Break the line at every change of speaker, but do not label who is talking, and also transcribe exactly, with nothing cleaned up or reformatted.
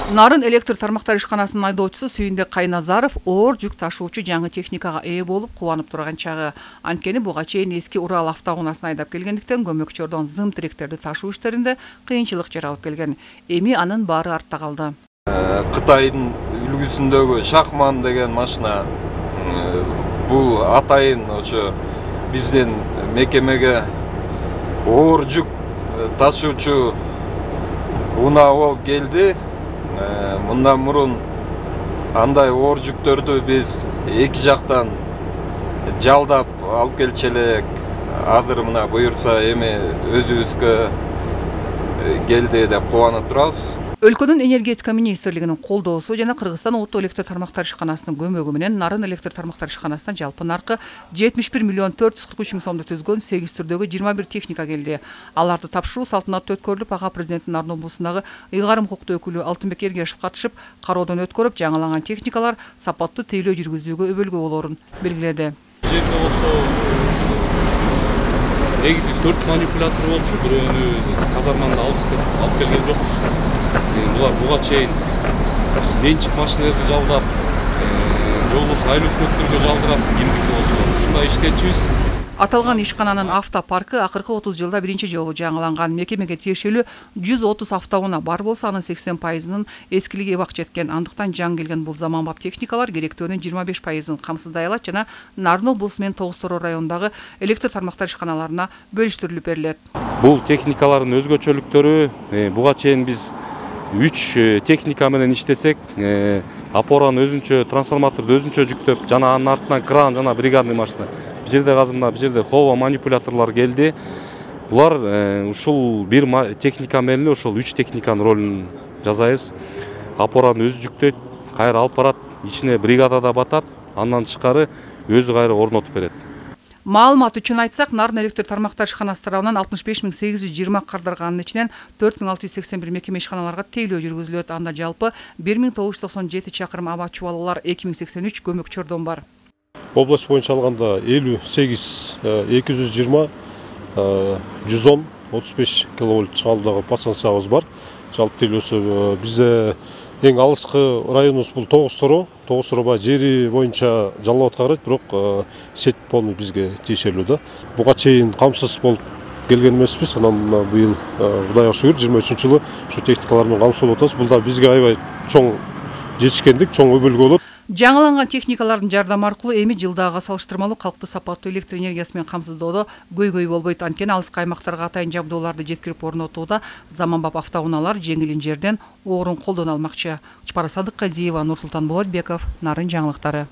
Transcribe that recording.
Нарын электр тармактар ишканасынын айдоочусу Сүйүнбек Кайназаров оор жүк ташуучу жаңы техникага ээ болуп кубанып турган чагы. Анткени буга чейин эски Урал автоунаасына айдап келгендиктен көмөкчөрдөн зым тиректерди ташуу иштеринде кыйынчылык жаралып келген. Эми анын баары артта калды.
Кытайдын үлгүсүндөгү Шахман деген машина бул атайын ошо биздин мекемеге оор жүк ташуучу унаа болуп келди. Мындан мурун андай оор жүктөрдү биз эки жактан жалдап алып келчү элек. Азыр мына буюрса эми өзүбүзгө келди деп кубанып турабыз.
Өлкөнүн энергетика министрлигинин колдоосу жана Кыргызстан улуттук электр тармактар ишканасынын көмөгү менен Нарын электр тармактар ишканасына жалпы наркы жетимиш бир миллион төрт жүз кырк үч миң сомду түзгөн сегиз түрдөгү жыйырма бир техника келди. Аларды тапшыруу салтанаттуу өткөрүлүп, ага президенттин Нарын облусундагы ыйгарым укуктуу өкүлү Алтынбек Эргешев катышып, кароодон өткөрүп, жаңыланган техникалар сапаттуу тейлөө жүргүзүүгө өбөлгө болоорун белгиледи.
Жерде болсо негизи төрт манипулятор болчу, бирөөнү казарманда алыс деп алып келген жокпуз. Булар буга чейин менчик машиналарды жалдап, же болбосо айыл өкмөттөргө жалдырап, кимдики болсо ушундай иштечүбүз.
Аталган ишкананын автопаркы акыркы отуз жылда биринчи жолу жаңыланган. Мекемеге тиешелүү жүз отуз автоунаа бар болсо, анын сексен пайызынын эскилиги эбак жеткен. Андыктан жаңы келген бул заманбап техникалар керектөөнүн жыйырма беш пайызын камсыздай алат жана Нарын облусу менен Тогуз Тороо районундагы электр тармактар ишканаларына бөлүштүрүлүп берилет.
Бул техникалардын өзгөчөлүктөрү, буга чейин биз үч техника менен иштесек, опораны өзүнчө, трансформаторду өзүнчө жүктөп, жана анын артынан кран жана бригадный машина. Бул жерде казымда, бул жерде хоба манипуляторлор келди. Булар ушул бир техника менен ошол үч техниканын ролун жасайбыз. Опораны өзү жүктөйт, кайра алып барат, ичине бригадада батат, андан тышкары өзү кайра орнотуп берет.
Маалымат үчүн айтсак, Нарын электр тармактар ишканасы тарабынан алтымыш беш миң сегиз жүз жыйырма кардарганын ичинен төрт миң алты жүз сексен бир мекеме ишканаларга тейлөө жүргүзүлөт. Анда жалпы бир миң тогуз жүз токсон жети чакырым аба чубалуулар, эки миң сексен үч көмөкчөрдөн бар.
Область боюнча алганда элүү сегиз эки жүз жыйырма жүз он отуз беш киловольт чыгарылдагы подстанциябыз бар. Жалпы тейлөөсү бизде эң алыскы районубуз бул Тогуз Тороо. Тогуз Тороо жери боюнча жалап аткарат, бирок сеть полный бизге тиешелүү да. Буга чейин камсыз болуп келген эмеспиз. Анан быйыл Кудайга шүгүр жыйырма үчүнчү жылы ушу техникалар менен камсыз болуп атабыз. Бул да бизге аябай чоң жетишкендик, чоң өбөлгө болот.
Жаңыланган техникалардын жардамы аркылуу эми жылдагы салыштырмалуу калкты сапаттуу электр энергиясы менен камсыздоодо көйгөй болбойт. Анткени алыскы аймактарга атайын жабдууларды жеткирип орнотууда заманбап автоунаалар жеңилин жерден оорун колдоно алмакчы. Чапара Садыкказиева, Нурсултан Болотбеков, Нарын жаңылыктары.